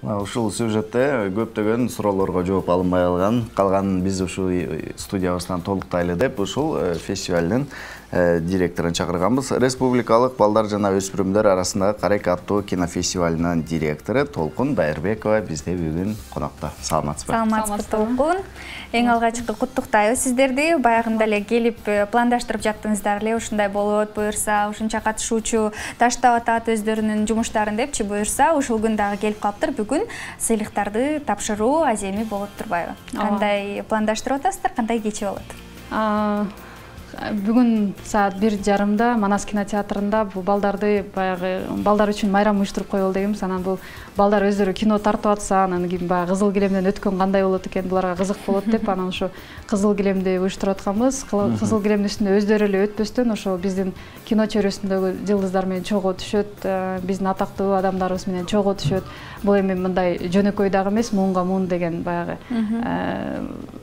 Ушул сюжетте көптөгөн суроолорго жооп алынбай калган биз ушул студиябыздан толуктайлы деп ушул фестивалдын директорун чакырганбыз. Республикалык балдар жана өспүрүмдөр арасындагы Карек аттуу кинофестивалынын директору Толкун Дайырбекова бизде бүгүн конокто. Саламатсызбы? Саламатсызбы, Толкун. Эң алгачкы куттуктайбыз сиздерди. Баягында эле келип пландаштырып жаттыңыздар эле, ушундай болот, буюрса, ушунча катышуучу таштап атат өздөрүнүн жумуштарын депчи, буюрса, ушул күн дагы келип калыптыр. Бүгүн сыйлыктарды тапшыруу аземи болот турбайбы? Кандай пландаштырып атасыздар, кандай кече болот? Бүгүн саат 1:30 Манас кинотеатрында бул балдарды баягы балдар үчүн майрам уюштуруп коелу дегенбиз. Анан бул балдар өздөрү кино тартып атса, анан кийин баягы кызыл килемден өткөн кандай болот экен, буларга кызык болот деп анан ошо кызыл килемди уюштуруп атканбыз. Кызыл килемдин үстүндө өздөрү эле өтпөстөн ошо биздин кино чөйрөсүндөгү жылдыздар менен чогуу түшөт, биздин атактуу адамдарыбыз менен чогуу түшөт. Бул эми мындай жөнөкөй дагы эмес, муунга муун деген баягы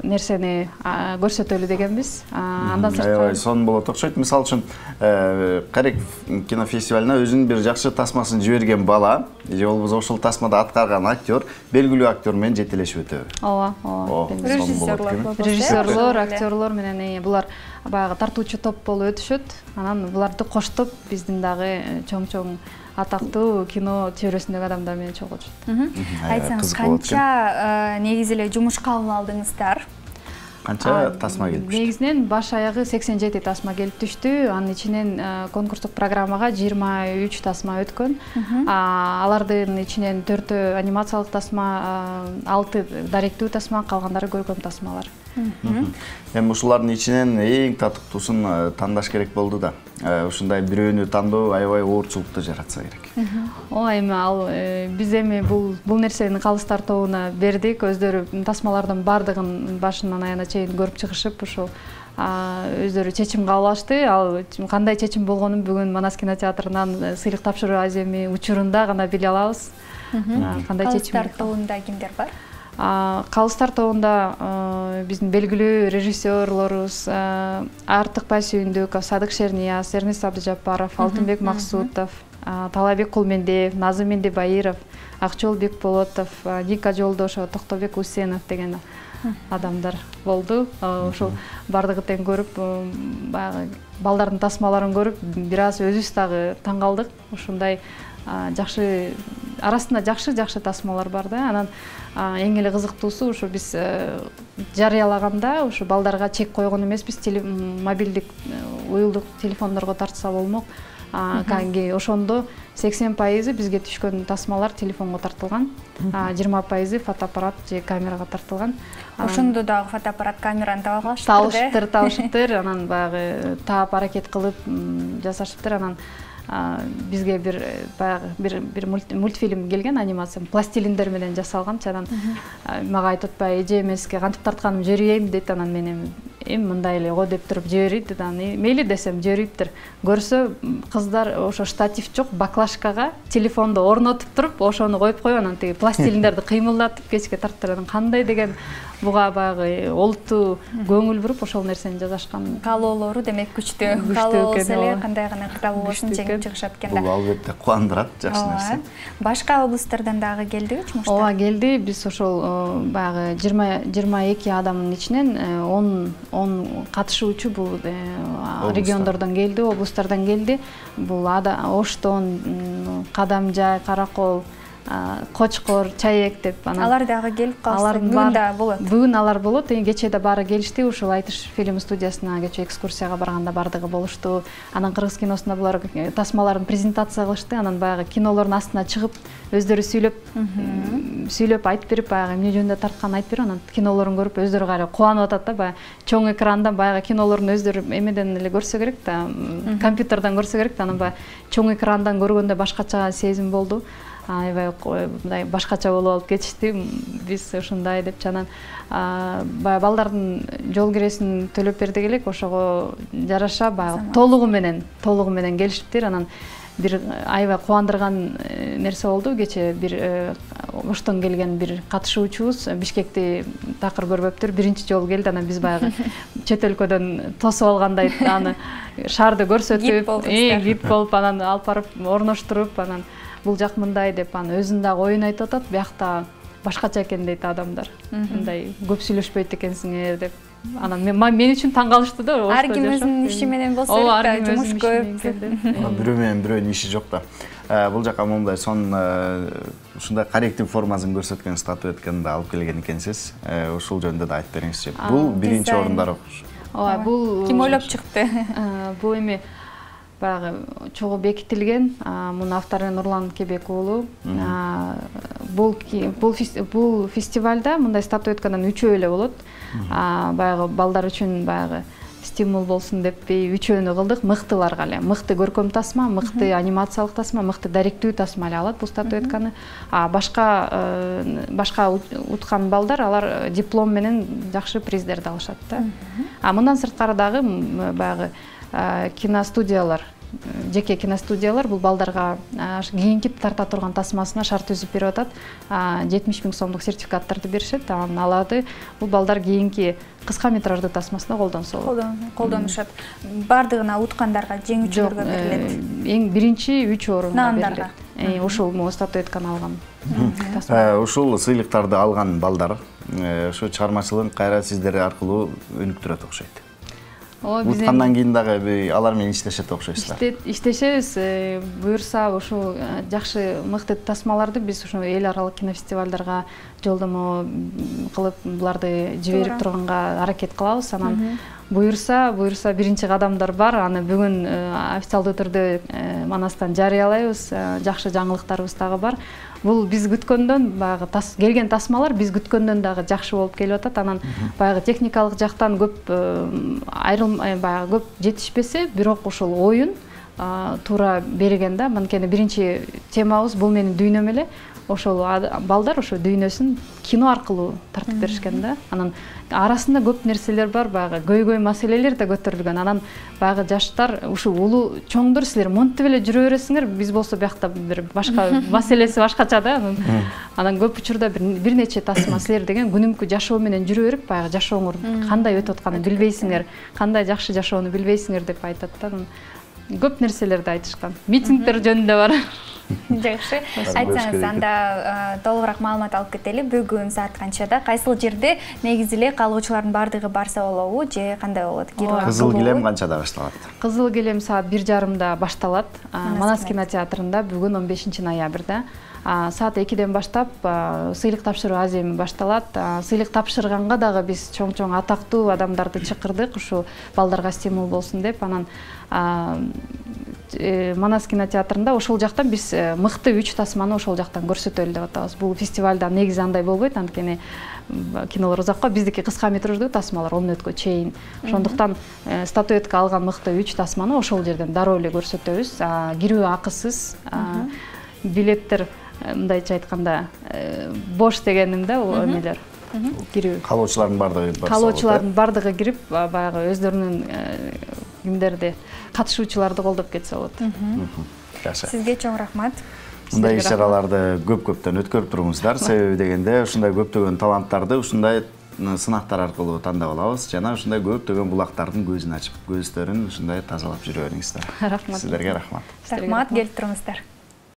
нерсени көрсөтөлү дегенбиз. Андан Аябай сон болот окшойт. Мисалы үчүн Карек кинофестивалына өзүнүн бир жакшы тасмасын жиберген бала же болбосо ошол тасмада аткарган актер белгилүү актер менен жетелешип өтөбү? Ооба. Режиссерлор, актерлор менен булар баягы тартуучу топ болуп өтүшөт. Анан буларды коштоп биздин дагы чоң-чоң атактуу кино чөйрөсүндөгү адамдар менен чогуу түшөт. Айтсаңыз, канча негизи эле жумуш кабыл алдыңыздар? Канча тасма келип түштү? Негизинен баш аягы 87 тасма келип түштү. Анын ичинен конкурстук программага 23 тасма өткөн. Алардын ичинен 4 анимациялык тасма, 6 даректүү тасма, калгандары көркөм тасмалар. Эми ушулардын ичинен эң татыктуусун тандаш керек болду да. Ушундай бирөөнү тандоо аябай оорчулукту жаратса керек. Ооба, эми ал биз эми бул нерсени калыстар тобуна бердик. Өздөрү тасмалардын бардыгын башынан аягына чейин көрүп чыгышып, ошол өздөрү чечим кабыл алышты. Ал кандай чечим болгонун бүгүн Манас кинотеатрынан сыйлык тапшыруу аземи учурунда гана биле алабыз. Кандай чечим? Калыстар тобунда кимдер бар? Калыстар тобунда биздин белгилүү режиссерлорубуз Артыкбай Сүйүндүков, Садык Шернияз, Эрнест Абдыжаппаров, Алтынбек Максутов, Талабек Кулмендиев, Назым Мендебайыров, Акчол Бекболотов, Ника Жолдошева, Токтобек Усенов деген адамдар болду. Ошол бардыгы тең көрүп, баягы балдардын тасмаларын көрүп, бир аз өзүбүз дагы таң калдык. Ушундай жакшы арасында жакшы тасмалар бар да. Анан эң эле кызыктуусу ушу биз жарыялаганда ушу балдарга чек койгон эмеспиз. Мобилдик уюлдук телефондорго тартса болмок. Ошондо 80% бизге түшкөн тасмалар телефонго тартылган, 20% фотоаппарат же камерага тартылган. Ошондо дагы фотоаппарат, камераны таба алышыптыр. Табышыптыр, анан баягы таап аракет кылып жасашыптыр. Анан бизге бир мультфильм келген, анимация, пластилиндер менен жасалган. Анан мага айтып атпайбы, эже эмеске кантип тартканым жиберейинби дейт. Анан мен эми мындай эле го деп туруп жиберейт. Анан мейли десем жибериптир. Көрсө кыздар ошо штатив жок, баклажкага телефонду орнотуп туруп, ошону коюп анан тиги пластилиндерди кыймылдатып кечке тарттырат. Кандай деген буга баягы олуттуу көңүл буруп ошол нерсени жасашкан. Каалоолору демек күчтүү. Каалоо болсо эле кандай гана кытабы болсун жеңип чыгышат экен да. Бул албетте кубандырат, жакшы нерсе. Башка облустардан дагы келдиби жумуштар? Ооба, келди. Биз ошол баягы 22 адамдын ичинен 10 катышуучу бул региондордон келди, облустардан келди. Бул Оштон, Кадамжай, Каракол, Кочкор, Чаек деп алар дагы келип калса, бүгүн да болот. Бүгүн алар болот. Кечээ да баары келишти. Ушул Айтыш фильм студиясына кечээ экскурсияга барганда бардыгы болушту. Анан кыргыз киносунда булар тасмаларын презентация кылышты. Анан баягы кинолордун астына чыгып, өздөрү сүйлөп айтып берип, баягы эмне жөнүндө тартканын айтып берип, анан кинолорун көрүп өздөрү кайра кубанып атат да. Баягы чоң экрандан баягы кинолорун өздөрү эмеден эле көрсө керек да, компьютерден көрсө керек да. Анан баягы чоң экрандан көргөндө башкача сезим болду. Аябай мындай башкача болуп алып кетишти. Биз ушундай деп анан баягы балдардын жол киресин төлөп бердик элек, ошого жараша баягы толугу менен келишиптир. Анан бир аябай кубандырган нерсе болду. Кечээ бир Оштон келген бир катышуучубуз Бишкекти такыр көрбөптүр. Биринчи жолу келди. Анан биз баягы чет өлкөдөн тосуп алгандай аны шаарды көрсөтүп, гид болуп анан алып барып орноштуруп, анан бул жак мындай деп анан өзүнүн дагы оюн айтып атат, биякта башкача экен дейт адамдар. Мындай көп сүйлөшпөйт экенсиңер деп. Анан мен үчүн таң калышты да. Ар ким өзүнүн иши менен болсо керек да, жумуш көп. Бирөө менен бирөөнүн иши жок да. Бул жака момундай сонун ушундай коллектив формасын көрсөткөн статуэтканы да алып келген экенсиз. Ушул жөнүндө да айтып бериңизчи. Бул биринчи орундар окуш. Ооба, бул ким ойлоп чыкты? Бул эми баягы чогуу бекитилген, мунун автору Нурлан Кебек уулу. Бул фестивалда мындай статуэтканын 3 эле болот. Баягы балдар үчүн баягы стимул болсун деп 3-өнү кылдык. Мыктыларга эле, мыкты көркөм тасма, мыкты анимациялык тасма, мыкты даректүү тасма эле алат бул статуэтканы. Башка уткан балдар алар диплом менен жакшы приздерди алышат да. Мындан сырткары дагы баягы киностудиялар, жеке киностудиялар бул балдарга кийинкип тарта турган тасмасына шарт түзүп берип атат. 70 000 сомдук сертификаттарды беришет. Анан аларды бул балдар кийинки кыска метраждуу тасмасына колдонушат. Бардыгына уткандарга, жеңүүчүлөргө берилет. Эң биринчи 3 орунга берилет. Ушул статуэтканы алган тасма. Ушул сыйлыктарды алган балдар ушу чыгармачылыгын кайра сиздер аркылуу өнүктүрөт окшойт. Уткандан кийин дагы алар менен иштешет окшойсуздар. Иштешебиз. Буюрса ушул жакшы мыкты тасмаларды биз ушул эл аралык кинофестивалдарга жолдомо кылып буларды жиберип турганга аракет кылабыз. Анан буюрса биринчи кадамдар бар. Аны бүгүн официалдуу түрдө Манастан жарыялайбыз. Жакшы жаңылыктарыбыз дагы бар. Бул биз күткөндөн баягы келген тасмалар биз күткөндөн дагы жакшы болуп келип атат. Анан баягы техникалык жактан көп баягы көп жетишпесе, бирок ушул оюн туура берген да. Анткени биринчи темабыз бул менин дүйнөм эле. Ошол балдар ошо дүйнөсүн кино аркылуу тартып беришкен да. Анан арасында көп нерселер бар, баягы көйгөй маселелер да көтөрүлгөн. Анан баягы жаштар ушул улуу чоңдор силер монтип эле жүрө бересиңер, биз болсо биякта бир башка маселеси башкача да. Анан көп учурда бир нече тасма силер деген күнүмкү жашоо менен жүрө берип, баягы жашооңор кандай өтүп атканын билбейсиңер, кандай жакшы жашоону билбейсиңер деп айтат да. Көп нерселерди айтышкан. Митингдер жөнүндө бар. Жакшы. Айтсаңыз, анда толугураак маалымат алып кетели. Бүгүн саат канчада, кайсыл жерде негизи эле каалоочулардын бардыгы барса болобу же кандай болот? Кызыл килем канчада башталат? Кызыл килем саат 1:30 башталат. Манас кинотеатрында бүгүн 15 ноябрда. Саат 2-ден баштап сыйлык тапшыруу аземи башталат. Сыйлык тапшырганга дагы биз чоң атактуу адамдарды чакырдык, ушу балдарга стимул болсун деп. Анан Манас кинотеатрында ошол жактан биз мыкты 3 тасманы ошол жактан көрсөтөлү деп атабыз. Бул фестивалда негизи андай болбойт, анткени кинолор узакка, биздики кыска метраждуу тасмалар 10 мүнөткө чейин. Ошондуктан статуэтка алган мыкты 3 тасманы ошол жерден дароо эле көрсөтөбүз. Кирүү акысыз, билеттер мындайча айтканда бош дегеним да, эмелер. Кирүү. Каалоочулардын бардыгы кирип, баягы өздөрүнүн кимдерди катышуучуларды колдоп кетсе болот. Жакшы. Сизге чоң рахмат. Мындай иш-чараларды көптөн өткөрүп туруңуздар. Себеби дегенде ушундай көптөгөн таланттарды ушундай сынактар аркылуу тандап алабыз жана ушундай көптөгөн булактардын көзүн ачып, көздөрүн ушундай тазалап жүрө бериңиздер. Рахмат. Сиздерге рахмат. Рахмат, келип туруңуздар.